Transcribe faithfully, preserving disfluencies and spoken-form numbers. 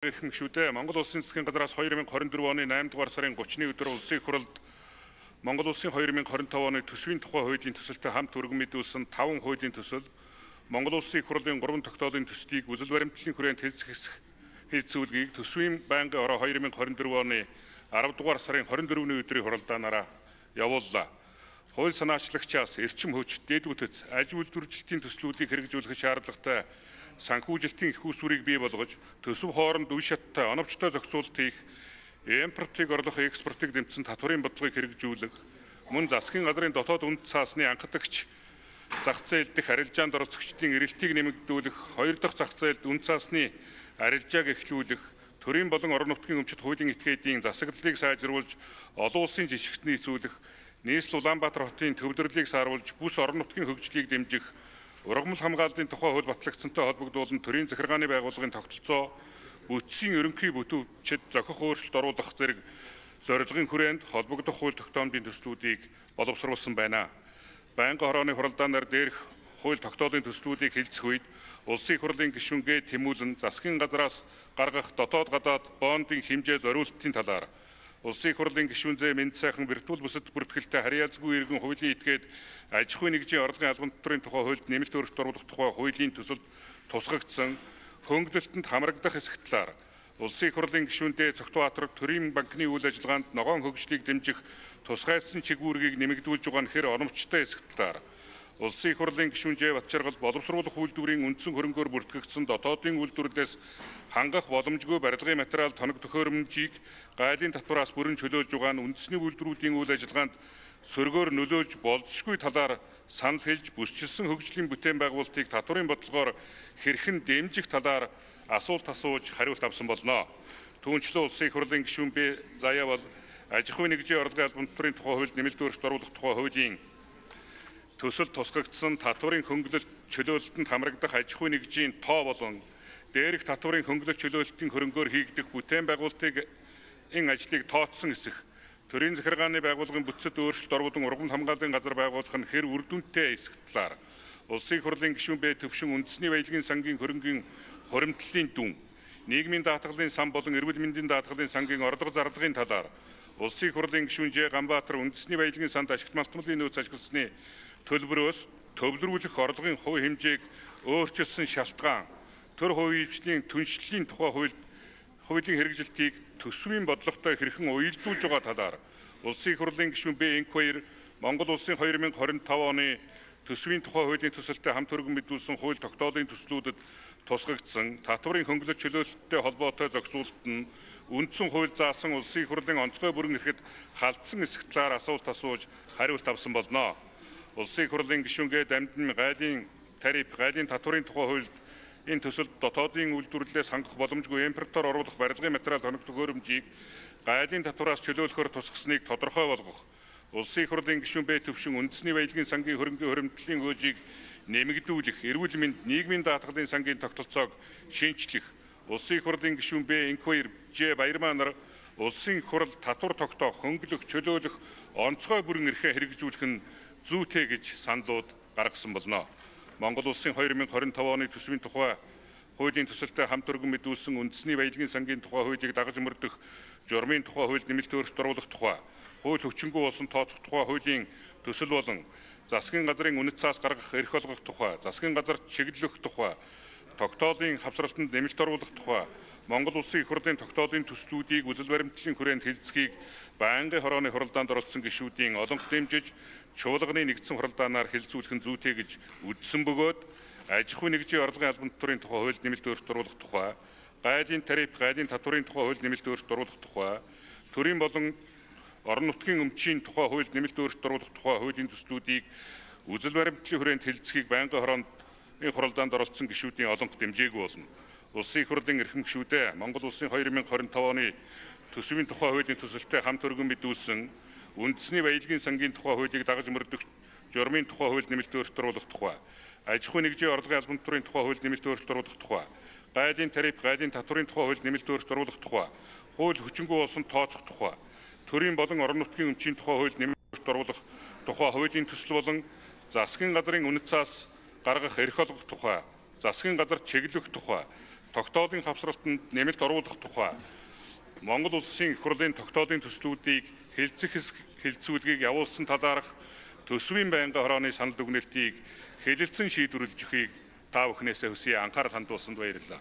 Ирхэн гишүүдээ Монгол Улсын засгийн газраас хоёр мянга хорин дөрөв оны наймдугаар сарын гуравны өдөр улсын их хурлд Монгол Улсын хоёр мянга хорин таван оны төсвийн тухай хуулийн төсөлтөд хамт өргөн мэдүүлсэн таван хуулийн төсөл, Монгол Улсын их хурлын гурван тогтоолын төслийг үзэл баримтлалын хүрээнд хэлэлцүүлгийг төсвийн байнгын ороо хоёр мянга хорин дөрөв оны арав дугаар сарын хорин дөрөвний өдрийн хуралдаанаараа явууллаа. Хууль санаачлагчаас эрчим хүч, дэд бүтэц, аж үйлдвэржилтийн төслүүдийг хэрэгжүүлэх шаардлагатай санхүүжилтийн их усварыг бий болгож, төсөв хооронд үе шаттай оновчтой зохицуулалт хийх, импортыг орлох, экспортыг дэмжсэн татварын бодлогыг хэрэгжүүлэх, мөн засгийн газрын дотоод үнэт цаасны анхдагч зах зээл дэх арилжаанд оролцогчдын эрэлтийг нэмэгдүүлэх, хоёр дахь зах зээлд үнэт цаасны арилжааг эхлүүлэх, төрийн болон орон нутгийн өмчит хуулийн этгээдийн засаглалыг сайжруулж, олон улсын жижигт нийцүүлэх, нийслэл Улаанбаатар хотын төвлөрлийг сааруулж, бүс орон нутгийн хөгжлийг дэмжих, ургамал хамгааллын тухай хууль батлагдсантай холбогдуулан төрийн захиргааны байгууллагын тогтолцоо, бүтцийн ерөнхий бүтүүчид зохих өөрчлөлт оруулах зэрэг зорилгын хүрээнд холбогдох хууль тогтоомжийн төслүүдийг боловсруулсан байна. Байнгын хорооны хуралдаанаар дээрх хууль тогтоолын төслүүдийг хэлцэх үед улсын их хурлын гишүүнгээ тэмүүлэн засгийн газраас гаргах дотоод гадаад бондын хэмжээ зориулалтын талаар улсын их хурлын гишүүнзээ мэнд сайхан виртуал бүсэд бүртгэлтэй харьяалгүй иргэн хуулийн этгээд аж ахуйн нэгжийн орлогын албан татварын тухай хуульд нэмэлт өөрчлөлт оруулах тухай хуулийн төсөлд тусгагдсан хөнгөлөлтөнд хамрагдах хэсэг талаар улсын их хурлын гишүүндээ Цогтбаатар төрийн банкны үйл ажиллагаанд ногоон хөгжлийг дэмжих тусгайсан чигүүргийг нэмэгдүүлж байгаа нь хэр оновчтой хэсэг талаар улсын их хурлын гишүүнжээ Батчаргал боловсруулах үйлдвэрийн үндсэн хөрөнгөөр бүртгэгдсэн дотоодын үйлдвэрлэлээс хангах боломжгүй барилгын материал тоног төхөөрөмжийг гайлын татвараас бүрэн чөлөөлж байгаа нь үндэсний үйлдвэрүүдийн үйл ажиллагаанд сөргөөр нөлөөлж болзошгүй талаар санал хэлж, бүсчилсэн хөгжлийн бүтээн байгуулалтыг татварын бодлогоор хэрхэн дэмжих талаар асуулт асууж хариулт авсан болно. Түүнчлэн улсын их хурлын гишүүн бэ заяа бол аж ахуйн нэгжийн орлогын албан татварын тухай хуульд нэмэлт өөрчлөлт оруулах тухай хуулийн төсөл тусгагдсан татварын хөнгөлөлт чөлөөлөлтөнд хамрагдах аж ахуйн нэгжийн тоо болон дээрх татварын хөнгөлөлт чөлөөлөлтийн хөрөнгөөр хийгдэх бүтээн байгуулалтыг ин ажлыг тооцсон хэсэг, төрийн захиргааны байгууллагын бүтцэд өөрчлөлт оруулан ургамал хамгааллын газар байгуулах нь хэр үр дүнтэй хэсэг талаар улсын их хурлын гишүүн бэ төвшин үндэсний баялагын сангийн хөрөнгийн хуримтлалын дүн, нийгмийн даатгалын сан болон эрүүл мэндийн даатгалын сангийн орлого зарлагын талаар улсын их хурлын гишүүн Ж Ганбаатар үндэсний баялагын санд ашигт малтмалын нөөц ашигласны төлбөрөөс төвлөрүүлэх орлогын хувь хэмжээг өөрчилсөн шалтгаан, төр хувийн түншлэлийн тухай хууль хуулийн хэрэгжилтийг төсвийн бодлоготой хэрхэн уялдуулж байгаа талаар улсын их хурлын гишүүн Б Энх хоёр Монгол Улсын хоёр мянга хорин таван оны төсвийн тухай хуулийн төсөлтөд хамт өргөн мэдүүлсэн хууль тогтоолын төслүүдэд тусгагдсан татварын хөнгөлөлт чөлөөлөлттэй холбоотой зохицуулалт нь үндсэн хууль заасан улсын их хурлын онцгой бүрэн эрхэд халдсан хэсэг талаар асуулт асууж хариулт авсан болно. Улсын их хурлын гишүүнгээ дамжин гайлын тариф, гайлын татварын тухай хуульд энэ төсөлд дотоодын үйлдвэрлэлээс хангах боломжгүй импортоор оруулах барилгын материал тоног төхөөрөмжийг гайлын татвараас чөлөөлөхөөр тусгасныг тодорхой болгох, улсын их хурлын гишүүн Б төвшин үндэсний баялагын сангийн хөрөнгөний хуримтлалын хөөжийг нэмэгдүүлэх, эрүүл мэнд, нийгмийн даатгалын сангийн тогтолцоог шинжлэх, улсын их хурлын гишүүн Б Энх хоёр Ж Баярмаа нар улсын их хурл татвар тогтоох, хөнгөлөх, чөлөөлөх онцгой бүрэн эрхээ хэрэгжүүлэх нь зүйтэй гэж саналууд гаргасан болно. Монгол Улсын хоёр мянга хорин таван оны төсвийн тухай хуулийн төсөлтөд хамт өргөн мэдүүлсэн үндэсний баялагын сангийн тухай хуулийг дагаж мөрдөх журмын тухай хуульд нэмэлт өөрчлөлт оруулах тухай, хууль хүчингүй болсон тооцох тухай хуулийн төсөл болон засгийн газрын үнэт цаас гаргах эрх олгох тухай, засгийн газар чиглэлөх тухай, тогтоолын хавсралтанд нэмэлт оруулах тухай, Монгол Улсын их хурлын тогтоолын төслүүдийг үзэл баримтлалын хүрээнд хэлэлцэхийг байнгын хорооны хуралдаанд оролцсон гишүүдийн олонх дэмжиж, чуулганы нэгдсэн хуралдаанаар хэлэлцүүлэх нь зүйтэй гэж үзсэн бөгөөд аж ахуйн нэгжийн орлогын албан татварын тухай хуульд нэмэлт өөрчлөлт оруулах тухай, гайлын тариф, гайлын татварын тухай хуульд нэмэлт өөрчлөлт оруулах тухай, төрийн болон орон нутгийн өмчийн тухай хуульд нэмэлт өөрчлөлт оруулах тухай хуулийн төслүүдийг үзэл баримтлалын хүрээнд хэлэлцэхийг байнгын хорооны хуралдаанд оролцсон гишүүдийн олонх дэмжээгүй болно. Улсын их хурлын эрхэм гишүүдээ Монгол Улсын хоёр мянга хорин таван оны төсвийн тухай хуулийн төсөлтөд хамт өргөн мэдүүлсэн үндэсний баялагын сангийн тухай хуулийг дагаж мөрдөх журмын тухай хуульд нэмэлт өөрчлөлт оруулах тухай, аж ахуйн нэгжийн орлогын албан татварын тухай хуульд нэмэлт өөрчлөлт оруулах тухай, гайлын тариф, гайлын татварын тухай хуульд нэмэлт өөрчлөлт оруулах тухай, хууль хүчингүй болсон тооцох тухай, төрийн болон орон нутгийн өмчийн тухай хуульд нэмэлт өөрчлөлт оруулах тухай хуулийн төсөл болон засгийн газрын үнэт цаас гаргах эрх олгох тухай, засгийн газар чиглэх тухай, тогтоодын хавсралтанд нэмэлт оруулах тухай Монгол Улсын их хурлын тогтоодын төслүүдийг хэлцэх хэлцүүлгийг явуулсан талаарх төсвийн байнгын хорооны санал дүгнэлтийг хэлэлцэн шийдвэрлэж өгөхийг та бүхнээсээ хүсье, анхаарал хандуулсанд баярлалаа.